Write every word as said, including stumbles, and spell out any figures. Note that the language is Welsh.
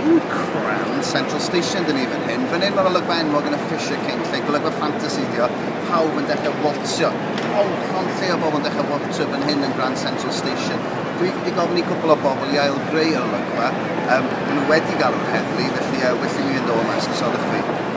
In Grand Central Station dyn ni fan hyn. Fan hyn mae'r olygfa enwog yn y Fisher King, lle golygfa ffantasi di o. Pawb yn dechrau waltsio. Pawb, llond lle o bobl yn dechrau waltsio fan hyn yn Grand Central Station. Dwi wedi gofyn i cwpl o bobl i ail-greu yr olygfa. Um, maen nhw wedi galw'r heddlu, felly uh, well i mi fynd o yma, esgusodwch fi.